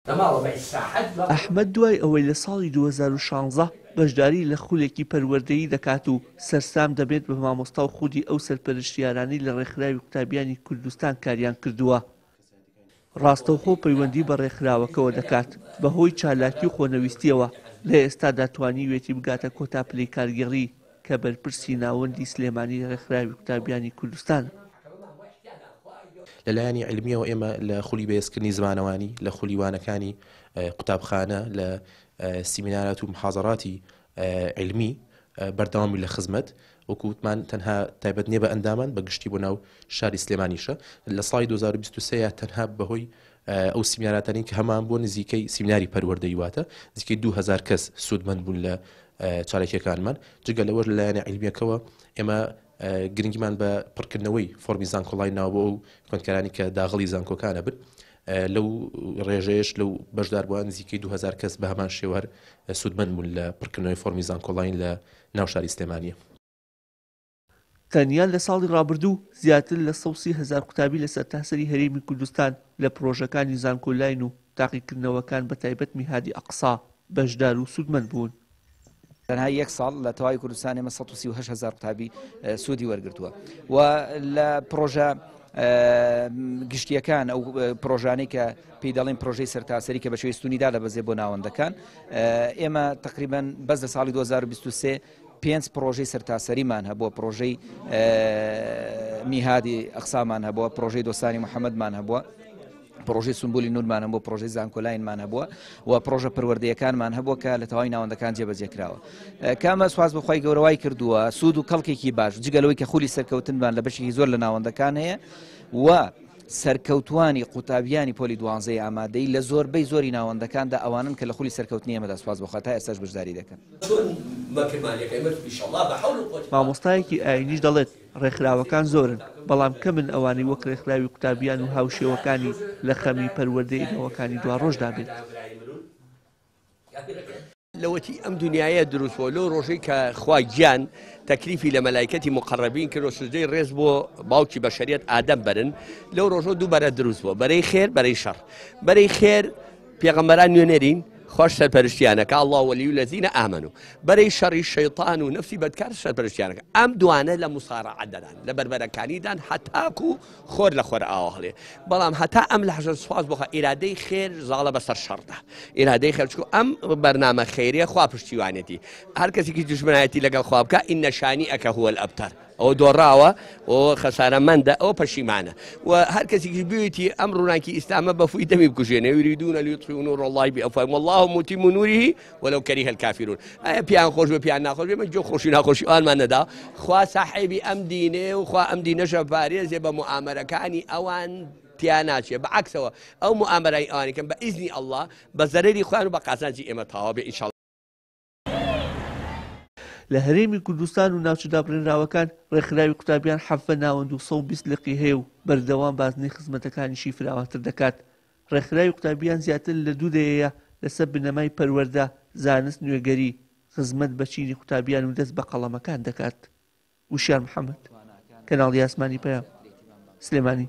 ئەحمەد دوای ئەوەی لە ساڵی 2016 بەشداری لە خولێکی پەروەردەیی دەکات و سەرسام دەبێت بە مامۆستا و خودی ئەو سەرپەرشتیارانەی لە ڕێکخراوی قوتابیانی کوردستان کاریان کردووە، ڕاستەوخۆ پەیوەندی بە ڕێکخراوەکەوە دەکات، بەهۆی چالاکی و خۆنەویستییەوە لە ئێستادا توانیویەتی بگاتە کۆتا پلەی کارگێڕی کە بەرپرسی ناوەندی سلێمانی ڕێکخراوی قوتابیانی کوردستانە. لە لایەنی عیلمییەوە ئێمە لە خولی بەهێزکردنی زمانەوانی، لە خولی وانەکانی قوتابخانە، لە سیمینارات و محازەراتی عیلمی بەردەوام بووین لە خزمەت. وەکو وتمان تەنها تایبەت نییە بە ئەندامان، بە گشتی بۆ ناو شاری سلێمانیشە. لە ساڵی 2023 یا تەنها بەهۆی ئەو سیمیناراتانەی کە هەمان بووە نزیکەی سیمیناری پەروەردەیی واتە نزیکەی 2000 کەس سوودمەند بوون لە چالاکیەکانمان. جگە لەوەش لە لایەنە عیلمیەکەوە ئێمە گرنگیمان بە پڕکردنەوەی فۆرمی زانکۆڵاین ناوە بۆ ئەو خوێندکارانی کە داغڵی زانکۆکانە بن. لەو ڕێژەیەش لەو بەشداربووان نزیکەی 2000 کەس بە هەمان شێوە هەر سوودمەند بوون لە پڕکردنەوەی فۆرمی زانکۆڵاین لە ناو شاری سلێمانییە. تەنیا لە ساڵی ڕابردوو زیاتر لە 130 هەزار قوتابی لە سەرتاسەری هەرێمی کوردستان لە پڕۆژەکانی زانکۆلاین و تاقیکردنەوەکان بەتایبەت میهادی ئەقسا بەشدار و سوودمەند بوون. تەنها یەک ساڵ لە تەواوی کوردستان ئێمە 138 هەزار قوتابی سوودی وەرگرتووە و لە پڕۆژە گشتیەکان ئەو پرۆژانەی کە پێی دەڵێن پرۆژەی سەرتاسەری کە بە شێوەی ستونی دادەبەزێ بۆ ناوەندەکان ئێمە تقریبان بەس لە ساڵی 2023 پێنج پرۆژەی سەرتاسەریمان هەبووە پرۆژەی میهادی ئەقسامان هەبووە پرۆژەی دۆستانی محەممەدمان هەبووە پرۆژەی سنبولی نورمان هەبوو پرۆژەی زانکۆلاینمان هەبووە و پرۆژە پەروەردەیەکانمان هەبووە کە لە تەواوی ناوەندەکان جێبەجێ کراوە کامە سواز بەخوای گەورەوای کردووە سوود و کەڵکێکی باش جگە لەوەی کە خولی سەرکەوتنمان لە بەشێکی زۆر لە ناوەندەکان هەیە و سەرکەوتوانی قوتابیانی پۆلی دوانزەی ئامادەی لە زۆربەی زۆری ناوەندەکاندا ئەوانن کە لە خولی سەرکەوتنی ئێمەدا سوپاس بۆ خوا تا ئێستاش بەشداری دەکەن. مامۆستایەکی ئایینیش دەڵێت، ڕێکخراوەکان زۆرن، بەڵام کەمن ئەوانەی وەک ڕێکخراوی قوتابیان و هاوشێوەکانی لە خەمی پەروەردەی نەوەکانی دواڕۆژدا بێت. لەوەتی ئەم دنیایە دروست بووە لەو ڕۆژەی کە خوا گیان تەکلیفی لە مەلایکەتی مقەڕەبین کرد و سوجدەی ڕێز بۆ باوکی بەشەریەت ئادەم بەرن لەو ڕۆژە دوو بەرە دروست بووە بەرەی خێر بەرەی شەڕ بەرەی خێر پێغەمبەران نوێنەرین خوش سەرپەرشتیانەکە الله ولی الذین آمنوا بەرەی شەڕی شەیطان و نەفسی بەدکار سەرپەرشتیانەکە ئەم دوانە لە مصارعە دەدان لە بەربەرەکانیدان هەتاکو خۆر لە خۆرئاوا هەڵێ بەڵام هەتا ئەم لەحزە سوپاس بۆ خوا ئیرادەی خێر زاڵە بەسەر شەڕدا ئیرادەی خێر چکو ئەم بەرنامە خێریە خوا پشتیوانێتی هەر کەسێکی دژمنایەتی لەگەڵ خوا بکە ئینە شانی ئەکە هو الابتر ئەوە دۆڕاوە ئەوە خەسارەمەندە ئەوە پەشیمانە و هەر کەسێکی بوێتی ئەم ڕووناکی ئیسلامە بە فوی دەمی بکوژێنێ یریدون لیطفئوا نور الله بأفواههم والله متم نوره ولو کریه الکافرون ئایا پێیان خۆش بێ پێیان ناخۆش بێ من گوێ خۆشی ناخۆشی ئەوانمان نەدا خوا ساحێبی ئەم دینێ و خوا ئەم دینەشە پارێزێ بە موئامەرەکانی ئەوان تیا ناچێ بە عەکسەوە ئەو موئامەرای ئەوانی کەم بە ئیزنی ئەڵڵا بە زەرەری خۆیان و بە قازانجی ئێمە تەواو بێ ئینشاءاللە. لە هەرێمی کوردستان و ناوچە دابڕێنراوەکان ڕێکخراوی قوتابیان 17 ناوەند و 120 لقی هەیە و بەردەوام بازنەی خزمەتەکانیشی فراوانتر دەکات. ڕێکخراوی قوتابیان زیاتر لە دوو دەیەیە لەسەر بنەمای پەروەردە، زانست، نوێگەری، خزمەت بە چینی قوتابیان و دەست بە قەڵەمەکان دەکات. وشیار محەمەد، کەناڵی ئاسمانی پەیام، سلێمانی.